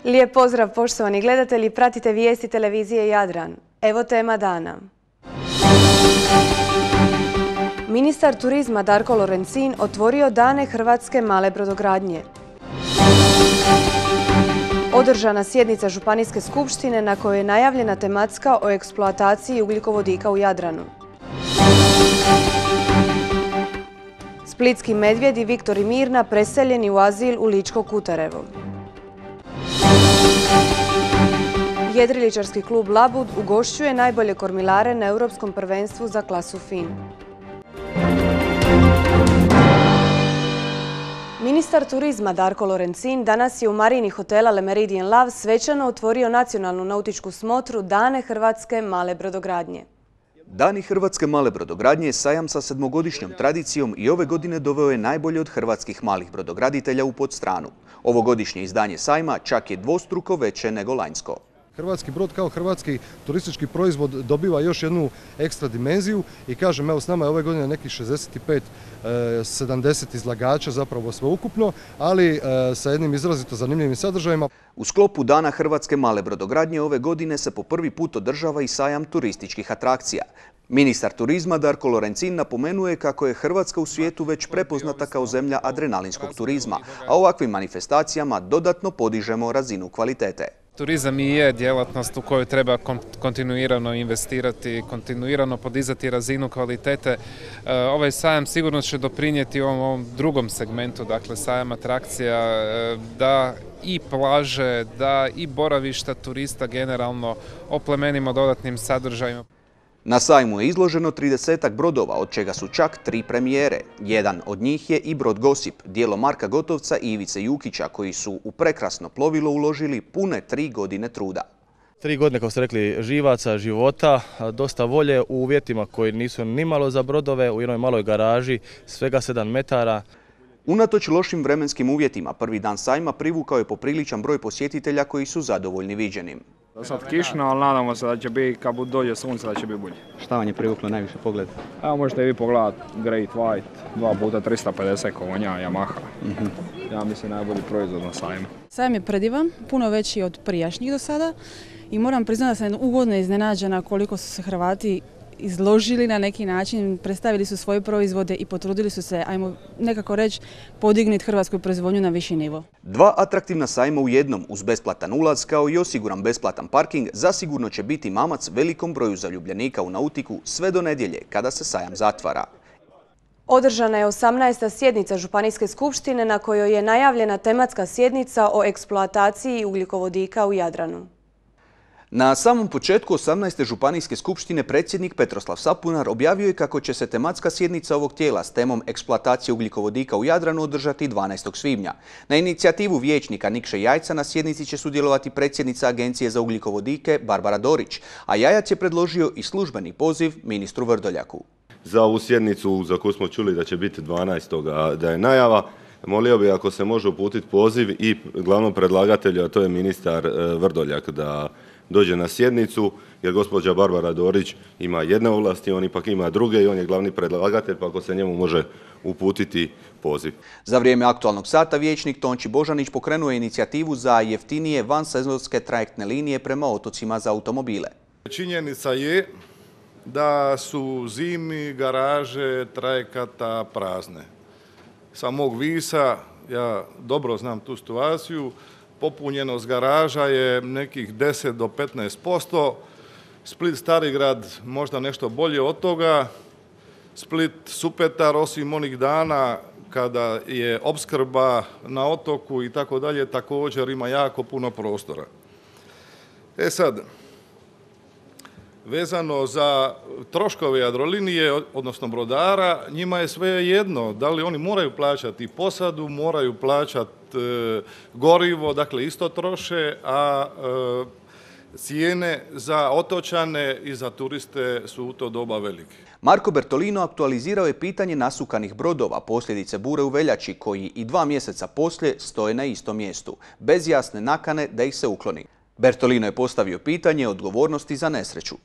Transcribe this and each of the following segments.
Lijep pozdrav poštovani gledatelji, pratite vijesti televizije Jadran. Evo tema dana. Ministar turizma Darko Lorencin otvorio Dane hrvatske male brodogradnje. Održana sjednica Županijske skupštine na kojoj je najavljena tematska o eksploataciji ugljikovodika u Jadranu. Splitski medvjed i Viktor i Mirna preseljeni u azil u Ličko Kutarevo. Jedriličarski klub Labud ugošćuje najbolje kormilare na Europskom prvenstvu za klasu FIN. Ministar turizma Darko Lorencin danas je u marini hotela Le Méridien Lav svečano otvorio nacionalnu nautičku smotru Dane hrvatske male brodogradnje. Dani hrvatske male brodogradnje je sajam sa 7-godišnjom tradicijom i ove godine doveo je najbolje od hrvatskih malih brodograditelja u Podstranu. Ovogodišnje izdanje sajma čak je dvostruko veće nego lanjsko. Hrvatski brod kao hrvatski turistički proizvod dobiva još jednu ekstra dimenziju i kažem, evo s nama je ove godine nekih 65-70 izlagača zapravo sveukupno, ali sa jednim izrazito zanimljivim sadržajima. U sklopu Dana hrvatske male brodogradnje ove godine se po prvi put održava i sajam turističkih atrakcija. Ministar turizma Darko Lorencin napomenuje kako je Hrvatska u svijetu već prepoznata kao zemlja adrenalinskog turizma, a ovakvim manifestacijama dodatno podižemo razinu kvalitete. Turizam i je djelatnost u kojoj treba kontinuirano investirati, kontinuirano podizati razinu kvalitete. Ovaj sajam sigurno će doprinijeti ovom drugom segmentu, dakle sajam atrakcija, da i plaže, da i boravišta turista generalno oplemenimo dodatnim sadržajima. Na sajmu je izloženo 30-ak brodova, od čega su čak 3 premijere. Jedan od njih je i brod Gosip, djelo Marka Gotovca i Ivice Jukića, koji su u prekrasno plovilo uložili pune 3 godine truda. 3 godine, kao ste rekli, živaca, života, dosta volje u uvjetima koji nisu nimalo za brodove, u jednoj maloj garaži, svega 7 metara. Unatoč lošim vremenskim uvjetima, prvi dan sajma privukao je popriličan broj posjetitelja koji su zadovoljni viđenim. Sad kišno, ali nadamo se da će biti, kad dođe sunce, da će biti bolje. Šta vam je privuklo najviše pogled? Evo možete vi pogledati Great White, 2x350 konja, Yamaha. Ja mislim najbolji proizvod na sajmu. Sajam je predivan, puno veći od prijašnjih do sada i moram priznati da sam ugodno iznenađena koliko su se Hrvati izložili na neki način, predstavili su svoje proizvode i potrudili su se, ajmo nekako reći, podignuti hrvatsku proizvodnju na viši nivo. 2 atraktivna sajma u jednom, uz besplatan ulaz kao i osiguran besplatan parking, zasigurno će biti mamac velikom broju zaljubljenika u nautiku sve do nedjelje, kada se sajam zatvara. Održana je 18. sjednica Županijske skupštine na kojoj je najavljena tematska sjednica o eksploataciji ugljikovodika u Jadranu. Na samom početku 18. županijske skupštine predsjednik Petroslav Sapunar objavio je kako će se tematska sjednica ovog tijela s temom eksploatacije ugljikovodika u Jadranu održati 12. svibnja. Na inicijativu vijećnika Nikše Jajca na sjednici će sudjelovati predsjednica Agencije za ugljikovodike Barbara Dorić, a Jajac je predložio i službeni poziv ministru Vrdoljaku. Za ovu sjednicu za koju smo čuli da će biti 12. da je najava, molio bih ako se može uputiti poziv i glavnom predlagatelju, a to je ministar Vrdoljak, da dođe na sjednicu, jer gospođa Barbara Dorić ima jedne ovlasti, on ipak ima druge i on je glavni predlagatelj, pa ako se njemu može uputiti poziv. Za vrijeme aktualnog sata vijećnik Tonči Božanić pokrenuo je inicijativu za jeftinije vansezonske trajektne linije prema otocima za automobile. Činjenica je da su zimi garaže trajekata prazne. Sa mog Visa, ja dobro znam tu situaciju, popunjenost garaža je nekih 10 do 15%, Split Starigrad možda nešto bolje od toga, Split Supetar osim onih dana kada je opskrba na otoku i tako dalje, također ima jako puno prostora. E sad, vezano za troškove Jadrolinije, odnosno brodara, njima je sve jedno. Da li oni moraju plaćati posadu, moraju plaćati gorivo, dakle isto troše, a cijene za otočane i za turiste su u to doba velike. Marko Bertolino aktualizirao je pitanje nasukanih brodova, posljedice bure u veljači, koji i 2 mjeseca poslije stoje na istom mjestu, bez jasne nakane da ih se ukloni. Bertolino je postavio pitanje odgovornosti za nesreću.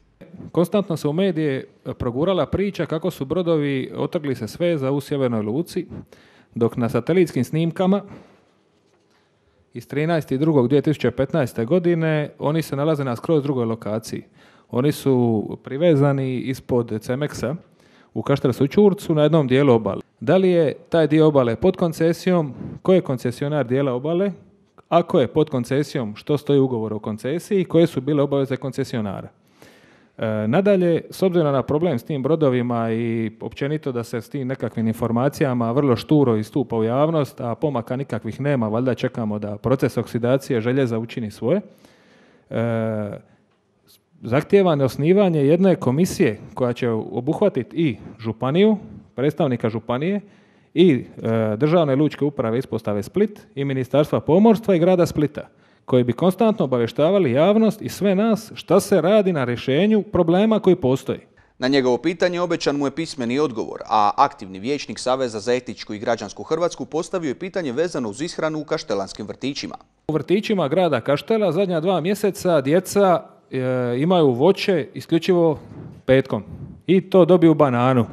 Konstantno se u medije progurala priča kako su brodovi otrgli se sveza u Sjevernoj luci, dok na satelitskim snimkama iz 13.2.2015. godine oni se nalaze na skroz drugoj lokaciji. Oni su privezani ispod Cemeksa u Kaštelskom Ćurcu na jednom dijelu obale. Da li je taj dio obale pod koncesijom, ko je koncesionar dijela obale, ako je pod koncesijom, što stoji u ugovoru o koncesiji i koje su bile obaveze koncesionara. Nadalje, s obzirom na problem s tim brodovima i općenito da se s tim nekakvim informacijama vrlo šturo istupa u javnost, a pomaka nikakvih nema, valjda čekamo da proces oksidacije željeza učini svoje, zahtijevano osnivanje jedne komisije koja će obuhvatiti i županiju, predstavnika županije i Državne lučke uprave ispostave Split i Ministarstva pomorstva i grada Splita, koji bi konstantno obavještavali javnost i sve nas šta se radi na rješenju problema koji postoji. Na njegovo pitanje obećan mu je pismeni odgovor, a aktivni vijećnik Saveza za etičku i građansku Hrvatsku postavio je pitanje vezano uz ishranu u kaštelanskim vrtićima. U vrtićima grada Kaštela zadnja 2 mjeseca djeca imaju voće isključivo petkom i to dobiju bananu.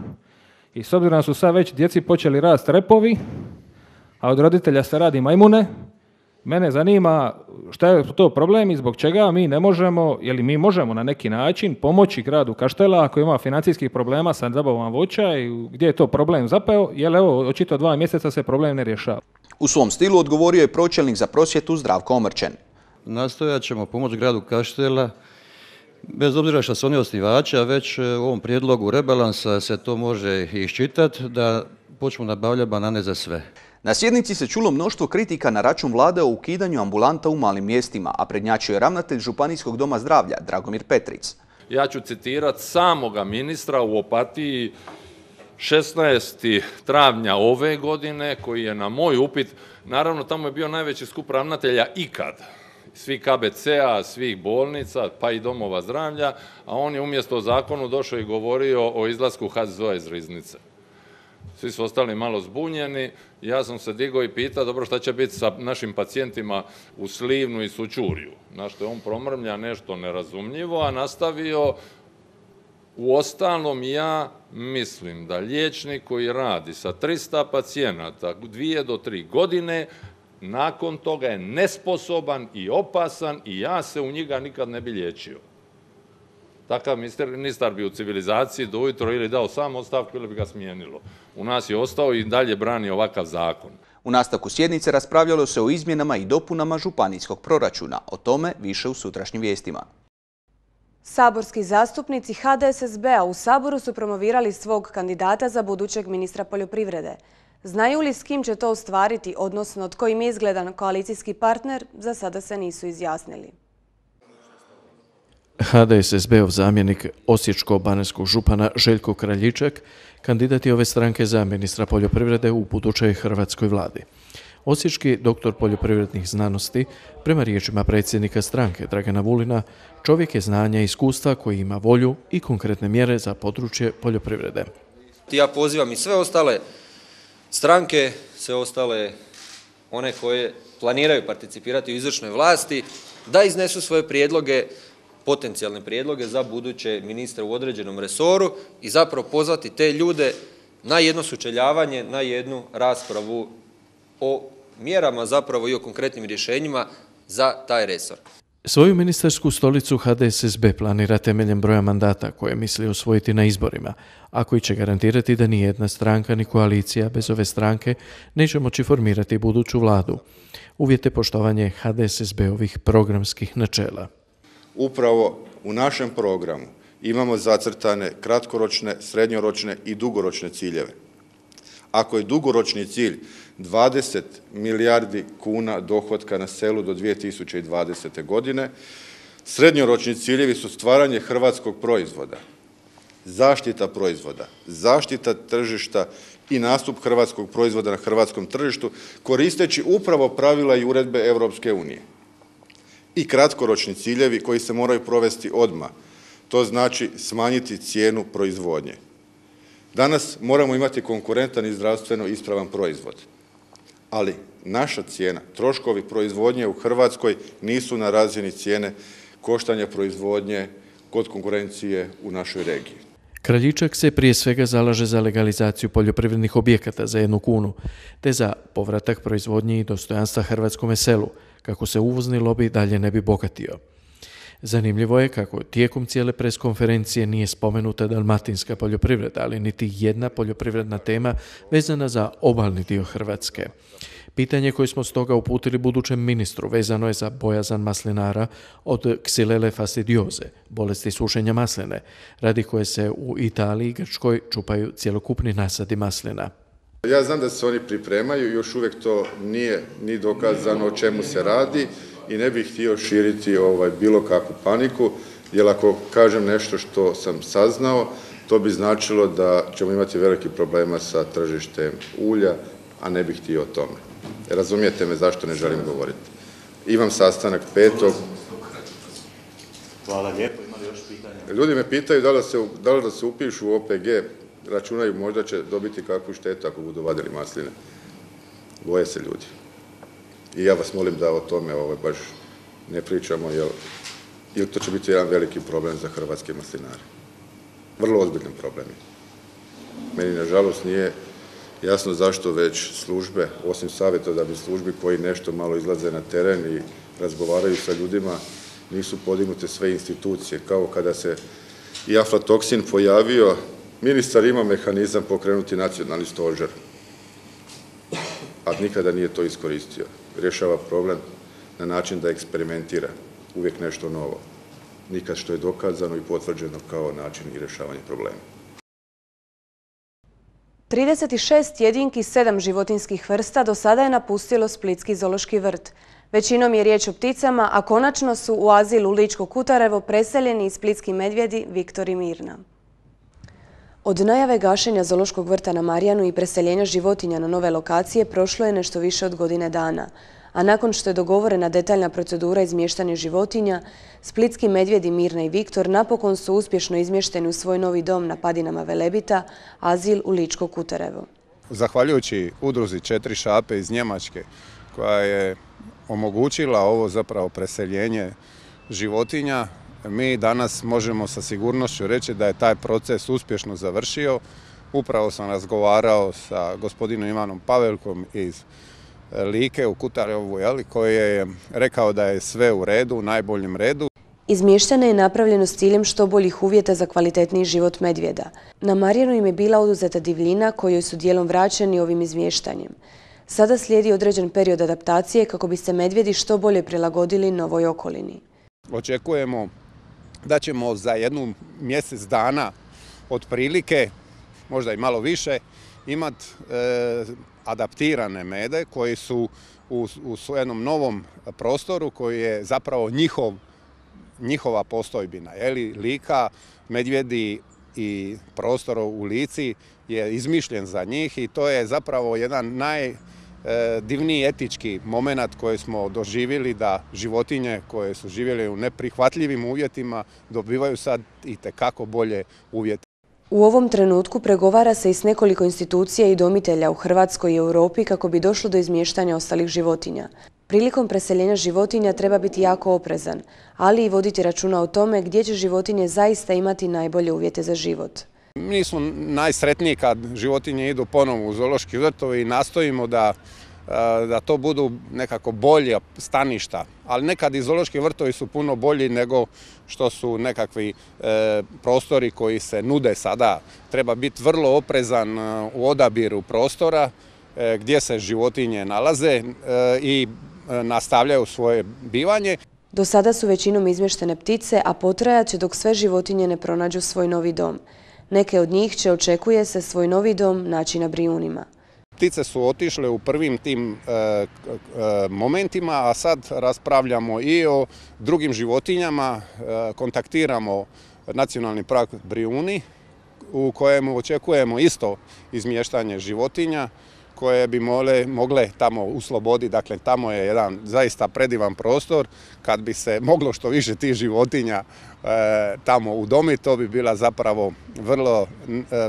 I s obzirom da su sad već djeci počeli rasti repovi, a od roditelja se radi majmune, mene zanima šta je to problem i zbog čega mi ne možemo, ili mi možemo na neki način pomoći gradu Kaštela ako ima financijskih problema sa nabavom voća i gdje je to problem zapeo, jer evo očito 2 mjeseca se problem ne rješava. U svom stilu odgovorio je pročelnik za prosvjetu Zdravko Omrčen. Nastojat ćemo pomoći gradu Kaštela, bez obzira što su oni osnivači, a već u ovom prijedlogu rebalansa se to može iščitati da počnu nabavljati banane za sve. Na sjednici se čulo mnoštvo kritika na račun vlade o ukidanju ambulanta u malim mjestima, a prednjačio je ravnatelj Županijskog doma zdravlja Dragomir Petric. Ja ću citirati samoga ministra u Opatiji 16. travnja ove godine, koji je na moj upit, naravno tamo je bio najveći skup ravnatelja ikad, svih KBC-a, svih bolnica, pa i domova zdravlja, a on je umjesto o zakonu došao i govorio o izlasku HZZO-a iz riznice. Svi su ostali malo zbunjeni, ja sam se digao i pitao, dobro, šta će biti sa našim pacijentima u Slivnu i Sućurju, na što je on promrmlja nešto nerazumljivo, a nastavio, uostalom ja mislim da liječnik koji radi sa 300 pacijenata 2 do 3 godine, nakon toga je nesposoban i opasan i ja se u njega nikad ne bi liječio. Takav ministar bi u civilizaciji do ujutro ili dao sam ostavku ili bi ga smijenilo. U nas je ostao i dalje brani ovakav zakon. U nastavku sjednice raspravljalo se o izmjenama i dopunama županijskog proračuna. O tome više u sutrašnjim vijestima. Saborski zastupnici HDSSB-a u Saboru su promovirali svog kandidata za budućeg ministra poljoprivrede. Znaju li s kim će to ostvariti, odnosno tko im je izgledan koalicijski partner, za sada se nisu izjasnili. HDSSB-ov zamjenik osječko-baranjskog župana Željko Kraljičak kandidat je ove stranke za ministra poljoprivrede u budućoj hrvatskoj vladi. Osječki doktor poljoprivrednih znanosti, prema riječima predsjednika stranke Dragana Vulina, čovjek je znanja i iskustva koji ima volju i konkretne mjere za područje poljoprivrede. Ja pozivam i sve ostale stranke, sve ostale one koje planiraju participirati u izvršnoj vlasti, da iznesu svoje prijedloge, potencijalne prijedloge za buduće ministre u određenom resoru i zapravo pozvati te ljude na jedno sučeljavanje, na jednu raspravu o mjerama zapravo i o konkretnim rješenjima za taj resor. Svoju ministarsku stolicu HDSSB planira temeljem broja mandata koje misli osvojiti na izborima, a koji će garantirati da ni jedna stranka ni koalicija bez ove stranke neće moći formirati buduću vladu. Uvjet je poštovanje HDSSB-ovih programskih načela. Upravo u našem programu imamo zacrtane kratkoročne, srednjoročne i dugoročne ciljeve. Ako je dugoročni cilj 20 milijardi kuna dohotka na selu do 2020. godine, srednjoročni ciljevi su stvaranje hrvatskog proizvoda, zaštita tržišta i nastup hrvatskog proizvoda na hrvatskom tržištu, koristeći upravo pravila i uredbe Europske unije. I kratkoročni ciljevi koji se moraju provesti odmah, to znači smanjiti cijenu proizvodnje. Danas moramo imati konkurentan i zdravstveno ispravan proizvod, ali naša cijena, troškovi proizvodnje u Hrvatskoj nisu na razini cijene koštanja proizvodnje kod konkurencije u našoj regiji. Kraljičak se prije svega zalaže za legalizaciju poljoprivrednih objekata za 1 kunu, te za povratak proizvodnje i dostojanstva hrvatskome selu, kako se uvozni lobi dalje ne bi bogatio. Zanimljivo je kako tijekom cijele preskonferencije nije spomenuta dalmatinska poljoprivreda, ali niti jedna poljoprivredna tema vezana za obalni dio Hrvatske. Pitanje koje smo stoga uputili budućem ministru vezano je za bojazan maslinara od Xylella fastidioze, bolesti sušenja masline, radi koje se u Italiji i Grčkoj čupaju cjelokupni nasadi maslina. Ja znam da se oni pripremaju, još uvijek to nije ni dokazano o čemu se radi i ne bih htio širiti bilo kakvu paniku, jer ako kažem nešto što sam saznao, to bi značilo da ćemo imati veliki problema sa tržištem ulja, a ne bih htio o tome. Razumijete me zašto ne želim govoriti. Imam sastanak 5. Hvala lijepo, imali još pitanja? Ljudi me pitaju da li da se upišu u OPG, računaju možda će dobiti kakvu štetu ako budu vadili masline. Boje se ljudi. I ja vas molim da o tome baš ne pričamo, jer to će biti jedan veliki problem za hrvatske maslinare. Vrlo ozbiljan problem. Meni nažalost nije jasno zašto već službe, osim savjetodavnih službi koji nešto malo izlaze na teren i razgovaraju sa ljudima, nisu podignute sve institucije. Kao kada se i aflatoksin pojavio, ministar ima mehanizam pokrenuti nacionalni stožer, a nikada nije to iskoristio. Rješava problem na način da eksperimentira, uvijek nešto novo. Nikad što je dokazano i potvrđeno kao način i rješavanje problema. 36 jedinki 7 životinjskih vrsta do sada je napustilo Splitski zoološki vrt. Većinom je riječ o pticama, a konačno su u azil u Ličko Kutarevo preseljeni i splitski medvjedi Viktor i Mirna. Od najave gašenja zoološkog vrta na Marjanu i preseljenja životinja na nove lokacije prošlo je nešto više od godine dana, a nakon što je dogovorena detaljna procedura izmještanja životinja, splitski medvjedi Mirna i Viktor napokon su uspješno izmješteni u svoj novi dom na padinama Velebita, azil u Ličko Kutarevo. Zahvaljujući udruzi 4 šape iz Njemačke, koja je omogućila ovo zapravo preseljenje životinja, mi danas možemo sa sigurnošću reći da je taj proces uspješno završio. Upravo sam razgovarao sa gospodinom Ivanom Pavelkom iz Like u Kutarevu, koji je rekao da je sve u redu, u najboljem redu. Izmještanje je napravljeno s ciljem što boljih uvjeta za kvalitetniji život medvjeda. Na Marjanu im je bila oduzeta divljina kojoj su dijelom vraćeni ovim izmještanjem. Sada slijedi određen period adaptacije kako bi se medvjedi što bolje prilagodili novoj okolini. Očekujemo da ćemo za 1 mjesec dana otprilike, možda i malo više, imati adaptirane mede koji su u jednom novom prostoru koji je zapravo njihova postojbina. Lika, medvjedi i prostor u Lici je izmišljen za njih i to je zapravo jedan najdivniji etički moment koji smo doživjeli, da životinje koje su živjele u neprihvatljivim uvjetima dobivaju sad itekako bolje uvjete. U ovom trenutku pregovara se i s nekoliko institucija i domitelja u Hrvatskoj i Europi kako bi došlo do izmještanja ostalih životinja. Prilikom preseljenja životinja treba biti jako oprezan, ali i voditi računa o tome gdje će životinje zaista imati najbolje uvjete za život. Mi smo najsretniji kad životinje idu ponovo u zoološki vrtovi i nastojimo da to budu nekako bolje staništa, ali nekad i zoološki vrtovi su puno bolji nego što su nekakvi prostori koji se nude sada. Treba biti vrlo oprezan u odabiru prostora gdje se životinje nalaze i nastavljaju svoje bivanje. Do sada su većinom izmještene ptice, a potrajat će dok sve životinje ne pronađu svoj novi dom. Neke od njih će, očekuje se, svoj novi dom naći na Brijunima. Ptice su otišle u prvim tim momentima, a sad raspravljamo i o drugim životinjama. Kontaktiramo Nacionalni park Brijuni u kojemu očekujemo isto izmještanje životinja koje bi mogle tamo usloboditi. Dakle, tamo je jedan zaista predivan prostor. Kad bi se moglo što više tih životinja tamo udomiti, to bi bila zapravo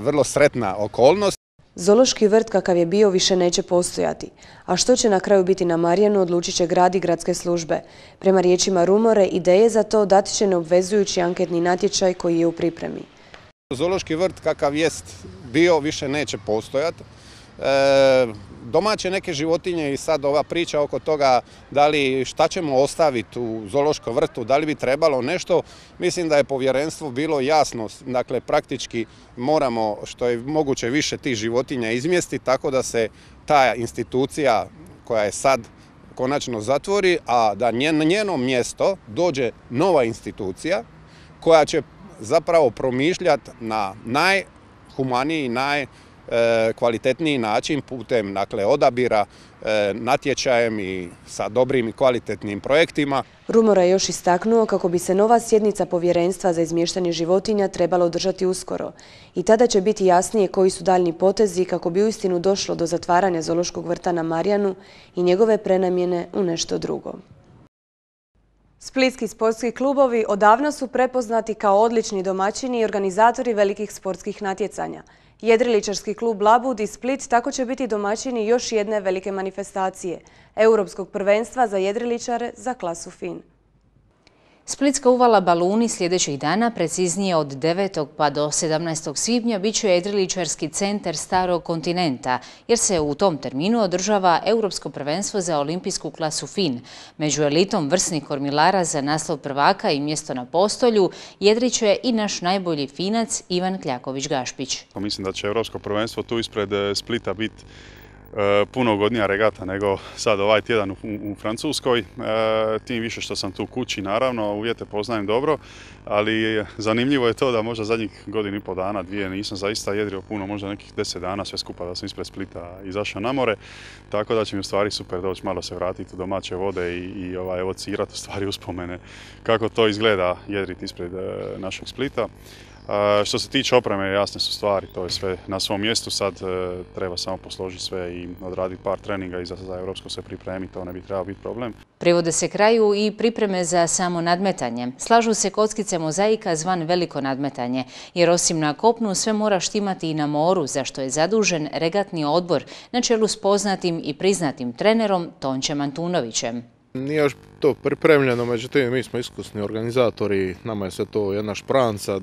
vrlo sretna okolnost. Zoološki vrt kakav je bio više neće postojati, a što će na kraju biti na Marjanu odlučit će grad i gradske službe. Prema riječima Rumore, ideje za to dati će neobvezujući anketni natječaj koji je u pripremi. Zoološki vrt kakav jest bio više neće postojati. Domaće neke životinje i sad ova priča oko toga da li šta ćemo ostaviti u zoološkom vrtu, da li bi trebalo nešto, mislim da je povjerenstvo bilo jasno, dakle praktički moramo što je moguće više tih životinja izmjestiti tako da se ta institucija koja je sad konačno zatvori, a da na njeno mjesto dođe nova institucija koja će zapravo promišljati na najhumaniji, najkvalitetniji način putem odabira, natječajem i sa dobrim i kvalitetnim projektima. Rumora je još istaknuo kako bi se nova sjednica povjerenstva za izmještanje životinja trebala održati uskoro i tada će biti jasnije koji su daljni potezi kako bi uistinu došlo do zatvaranja zoološkog vrta na Marjanu i njegove prenamjene u nešto drugo. Splitski sportski klubovi odavno su prepoznati kao odlični domaćini i organizatori velikih sportskih natjecanja. Jedriličarski klub Labud i Split tako će biti domaćini još jedne velike manifestacije – Europskog prvenstva za jedriličare za klasu FIN. Splitska uvala Baluni sljedećih dana, preciznije od 9. pa do 17. svibnja, bit će jedriličarski centar Starog kontinenta, jer se u tom terminu održava Europsko prvenstvo za olimpijsku klasu FIN. Među elitom vrsnih kormilara za naslov prvaka i mjesto na postolju jedriće i naš najbolji Finac Ivan Kljaković-Gašpić. Mislim da će Europsko prvenstvo tu ispred Splita biti puno ugodnija regata nego sad ovaj tjedan u Francuskoj. Tim više što sam tu kući, naravno, uvjete poznajem dobro, ali zanimljivo je to da možda zadnjih godinu i pol dana, dvije, nisam zaista jedrio puno, možda nekih 10 dana sve skupa da sam ispred Splita izašao na more, tako da će mi u stvari super doći malo se vratiti u domaće vode i evocirati u stvari uspomene kako to izgleda jedriti ispred našeg Splita. Što se tiče opreme, jasne su stvari, to je sve na svom mjestu, sad treba samo posložiti sve i odraditi par treninga i za Europsko se pripremiti, to ne bi trebao biti problem. Privode se kraju i pripreme za samo nadmetanje. Slažu se kockice mozaika zvan veliko nadmetanje, jer osim na kopnu sve mora štimati i na moru, za što je zadužen regatni odbor na čelu s poznatim i priznatim trenerom Tončem Antunovićem. Nije još to pripremljeno, međutim mi smo iskusni organizatori, nama je sve to jedna špranca,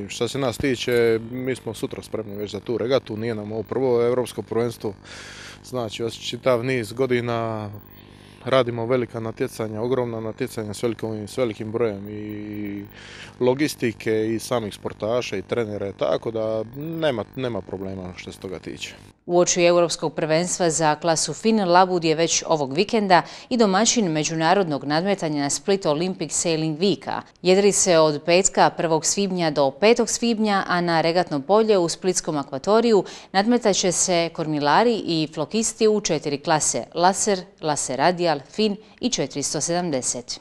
šta se nas tiče, mi smo sutra spremni već za tu regatu, nije nam ovo prvo europsko prvenstvo, znači čitav niz godina radimo velika natjecanja, ogromna natjecanja s velikim brojem i logistike i samih sportaša i trenera, tako da nema problema što se toga tiče. Uoči Europskog prvenstva za klasu FIN, Labud je već ovog vikenda i domaćin međunarodnog nadmetanja Split Olympic Sailing Weeka. Jedri se od petka 1. svibnja do 5. svibnja, a na regatno polje u Splitskom akvatoriju nadmetaće se kormilari i flokisti u 4 klase – laser, laser radial, FIN i 470.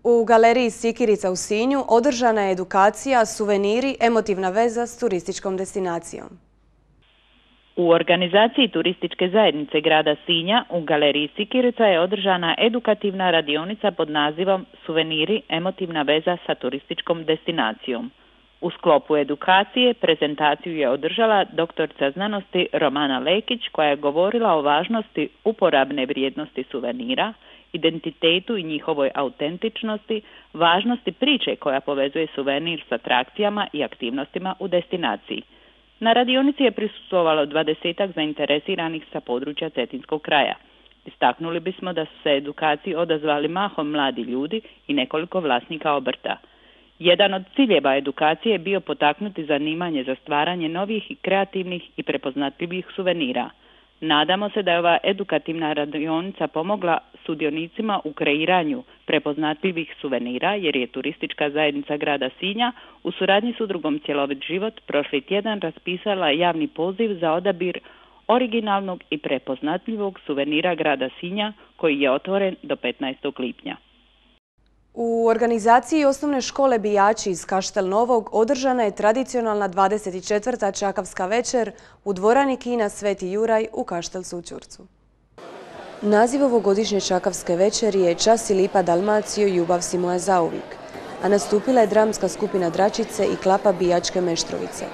U galeriji Sikirica u Sinju održana je edukacija Suveniri, emotivna veza s turističkom destinacijom. U organizaciji turističke zajednice grada Sinja u galeriji Sikirica je održana edukativna radionica pod nazivom Suveniri, emotivna veza sa turističkom destinacijom. U sklopu edukacije prezentaciju je održala doktorica znanosti Romana Lekić, koja je govorila o važnosti uporabne vrijednosti suvenira, identitetu i njihovoj autentičnosti, važnosti priče koja povezuje suvenir s atrakcijama i aktivnostima u destinaciji. Na radionici je prisustvovalo 20-ak zainteresiranih sa područja Cetinskog kraja. Istaknuli bismo da su se edukaciji odazvali mahom mladi ljudi i nekoliko vlasnika obrta. Jedan od ciljeva edukacije je bio potaknuti zanimanje za stvaranje novih i kreativnih i prepoznatljivih suvenira. Nadamo se da je ova edukativna radionica pomogla sudionicima u kreiranju prepoznatljivih suvenira, jer je turistička zajednica grada Sinja u suradnji s udrugom Cjelovit život prošli tjedan raspisala javni poziv za odabir originalnog i prepoznatljivog suvenira grada Sinja koji je otvoren do 15. lipnja. U organizaciji osnovne škole Bijači iz Kaštel Novog održana je tradicionalna 24. Čakavska večer u dvorani kina Sveti Juraj u Kaštel Sućurcu. Naziv ovogodišnje Čakavske večeri je Čas i lipa Dalmacijo, ljubav si moja zauvijek, a nastupila je dramska skupina Dračice i klapa Bijačke Meštrovice.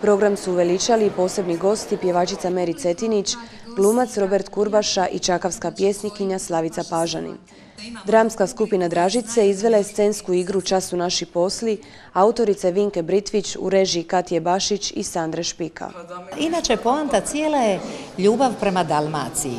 Program su uveličali posebni gosti pjevačica Meri Cetinić, glumac Robert Kurbaša i čakavska pjesnikinja Slavica Pažanin. Dramska skupina Dražice izvela je scensku igru Čas su naši posli, autorice Vinke Britvić u režiji Katje Bašić i Sandre Špika. Inače, poanta cijela je ljubav prema Dalmaciji.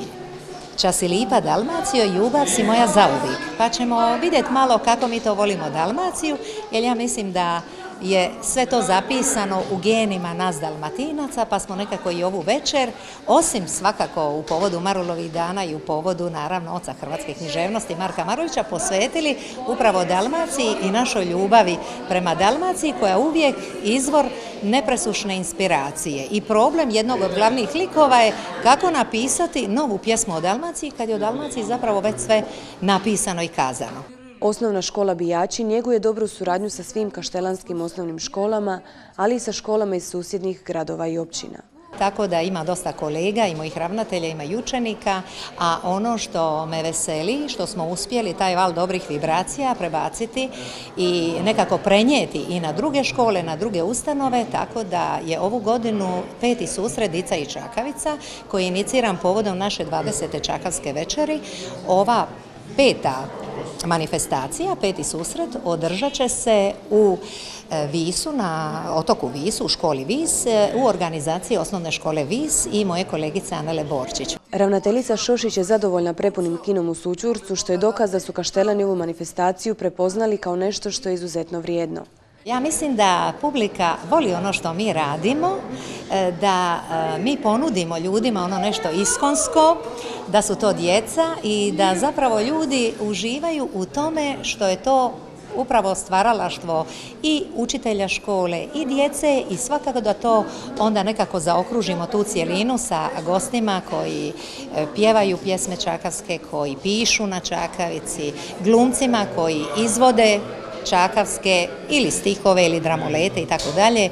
Čas si lipa Dalmacijo, ljubav si moja zauvijek. Pa ćemo vidjeti malo kako mi to volimo Dalmaciju, jer ja mislim da je sve to zapisano u genima nas Dalmatinaca, pa smo nekako i ovu večer, osim svakako u povodu Marulovih dana i u povodu, naravno, oca hrvatske književnosti Marka Marulića, posvetili upravo Dalmaciji i našoj ljubavi prema Dalmaciji, koja je uvijek izvor nepresušne inspiracije. I problem jednog od glavnih likova je kako napisati novu pjesmu o Dalmaciji, kad je o Dalmaciji zapravo već sve napisano i kazano. Osnovna škola Bijači njeguje dobru suradnju sa svim kaštelanskim osnovnim školama, ali i sa školama iz susjednih gradova i općina. Tako da ima dosta kolega i mojih ravnatelja, ima i učenika, a ono što me veseli, što smo uspjeli taj val dobrih vibracija prebaciti i nekako prenijeti i na druge škole, na druge ustanove, tako da je ovu godinu 5. susret Dica i Čakavica, koji je iniciran povodom naše 20. Čakavske večeri. Ova 5. manifestacija, 5. susret, održat će se u Visu, na otoku Visu, u školi Vis, u organizaciji osnovne škole Vis i moje kolegice Anele Borčić. Ravnateljica Šošić je zadovoljna prepunim kinom u Sućurcu, što je dokaz da su Kaštelani ovu manifestaciju prepoznali kao nešto što je izuzetno vrijedno. Ja mislim da publika voli ono što mi radimo, da mi ponudimo ljudima ono nešto iskonsko, da su to djeca i da zapravo ljudi uživaju u tome što je to upravo stvaralaštvo i učitelja škole i djece i svakako da to onda nekako zaokružimo tu cjelinu sa gostima koji pjevaju pjesme čakavske, koji pišu na čakavici, glumcima koji izvode čakavske ili stihove ili dramolete i tako dalje.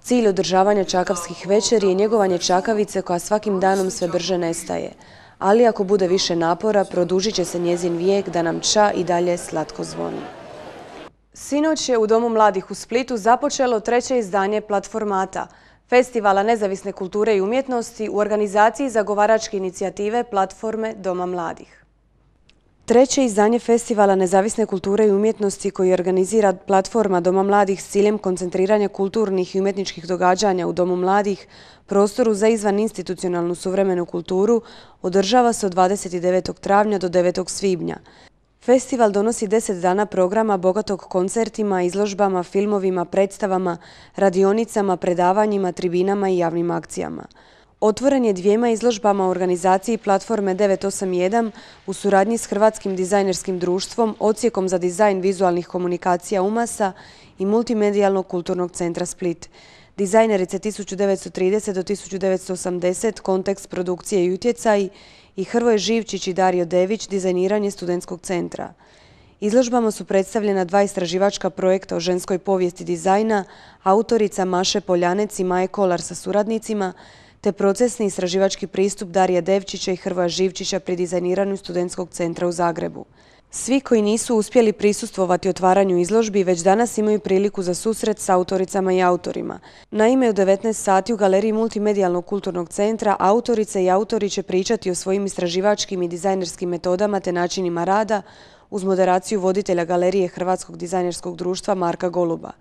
Cilj održavanja čakavskih večeri je njegovanje čakavice koja svakim danom sve brže nestaje. Ali ako bude više napora, produžit će se njezin vijek da nam ča i dalje slatko zvoni. Sinoć je u Domu mladih u Splitu započelo 3. izdanje Platformata, Festivala nezavisne kulture i umjetnosti u organizaciji zagovaračke inicijative Platforme Doma mladih. 3. izdanje Festivala nezavisne kulture i umjetnosti koji organizira Platforma Doma mladih s ciljem koncentriranja kulturnih i umjetničkih događanja u Domu mladih, prostoru za izvaninstitucionalnu suvremenu kulturu, održava se od 29. travnja do 9. svibnja. Festival donosi 10 dana programa bogatog koncertima, izložbama, filmovima, predstavama, radionicama, predavanjima, tribinama i javnim akcijama. Otvoren je 2 izložbama u organizaciji Platforme 981 u suradnji s Hrvatskim dizajnerskim društvom, Odsjekom za dizajn vizualnih komunikacija UMAS-a i Multimedijalnog kulturnog centra Split. Dizajnerice 1930 do 1980, kontekst produkcije i utjecaji i Hrvoje Živčić i Dario Dević, dizajniranje studentskog centra. Izložbama su predstavljena 2 istraživačka projekta o ženskoj povijesti dizajna, autorica Maše Poljanec i Maje Kolar sa suradnicima, te procesni istraživački pristup Darija Devčića i Hrvoja Živčića pri dizajniranju studentskog centra u Zagrebu. Svi koji nisu uspjeli prisustvovati otvaranju izložbi već danas imaju priliku za susret s autoricama i autorima. Naime, u 19 sati u galeriji Multimedijalnog kulturnog centra autorice i autori će pričati o svojim istraživačkim i dizajnerskim metodama te načinima rada uz moderaciju voditelja galerije Hrvatskog dizajnerskog društva Marka Goluba.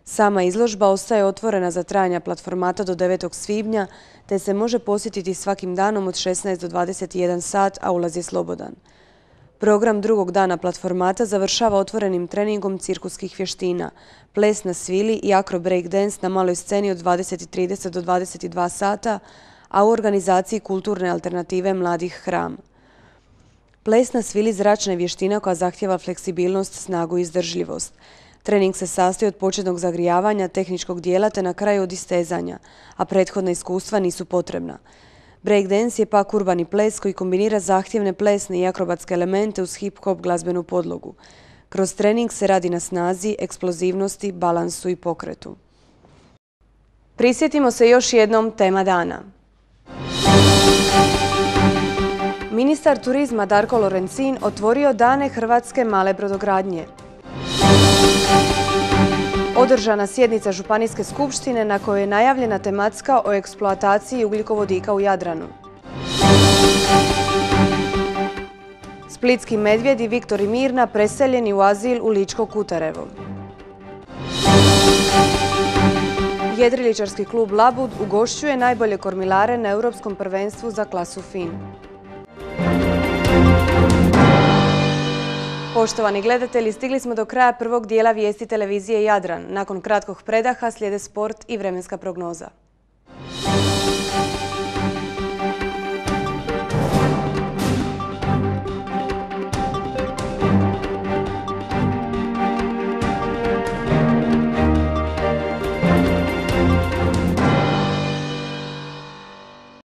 Sama izložba ostaje otvorena za trajanja Platformata do 9. svibnja, te se može posjetiti svakim danom od 16 do 21 sat, a ulaz je slobodan. Program drugog dana Platformata završava otvorenim treningom cirkuskih vještina, ples na svili i akro break dance na maloj sceni od 20:30 do 22 sata, a u organizaciji kulturne alternative Mladih Hram. Ples na svili zračna je vještina koja zahtjeva fleksibilnost, snagu i izdržljivost. Trening se sastoji od početnog zagrijavanja, tehničkog dijela te na kraju od istezanja, a prethodna iskustva nisu potrebna. Breakdance je pak urbani ples koji kombinira zahtjevne plesne i akrobatske elemente uz hip-hop glazbenu podlogu. Kroz trening se radi na snazi, eksplozivnosti, balansu i pokretu. Prisjetimo se još jednom tema dana. Ministar turizma Darko Lorencin otvorio Dane hrvatske male brodogradnje. Održana sjednica Županijske skupštine na kojoj je najavljena tematska o eksploataciji ugljikovodika u Jadranu. Splitski medvjedi Viktor i Mirna preseljeni u azil u Ličko Kutarevo. Jedriličarski klub Labud ugošćuje najbolje kormilare na Europskom prvenstvu za klasu FIN. Poštovani gledatelji, stigli smo do kraja prvog dijela vijesti televizije Jadran. Nakon kratkog predaha slijede sport i vremenska prognoza.